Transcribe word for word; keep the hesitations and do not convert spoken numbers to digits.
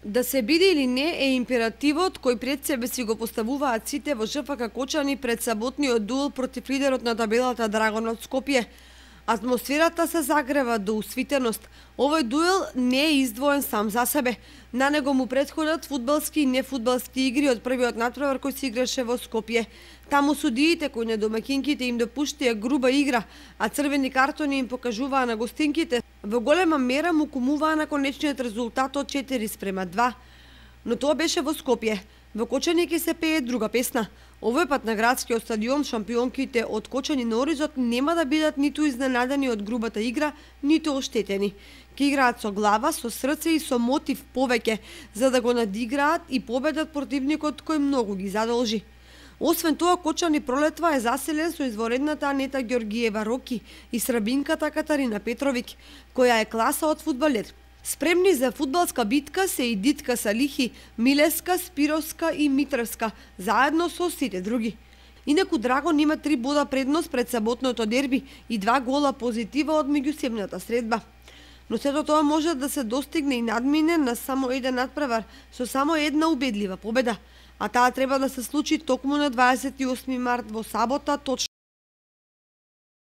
Да се биде или не е императивот кој пред себе си го поставуваат сите во ЖФК Кочани пред саботниот дуел против лидерот на табелата Драгон од Скопје. Атмосферата се загрева до усвитеност. Овој дуел не е издвоен сам за себе. На него му претходат фудбалски и нефудбалски игри од првиот натпревар кој се играше во Скопје. Таму судиите кои на домакинките им допуштија груба игра, а црвени картони им покажуваа на гостинките, во голема мера му кумуваа на конечниот резултат од четири спрема два. Но тоа беше во Скопје. Во Кочани ќе се пее друга песна. Овој пат на градскиот стадион шампионките од Кочани на Оризот нема да бидат ниту изненадени од грубата игра, ниту оштетени. Ке играат со глава, со срце и со мотив повеќе, за да го надиграат и победат противникот кој многу ги задолжи. Освен тоа, Кочани пролетва е заселен со изворедната Анета Ѓоргиева Роки и срабинката Катарина Петровик, која е класа од фудбалер. Спремни за фудбалска битка се и Дитка Салихи, Милеска, Спировска и Митревска, заедно со сите други. Инаку Драгон има три бода предност пред саботното дерби и два гола позитива од меѓусебната средба. Но сето тоа може да се достигне и надмине на само еден надпревар со само една убедлива победа, а таа треба да се случи токму на дваесет и осми март во сабота, точно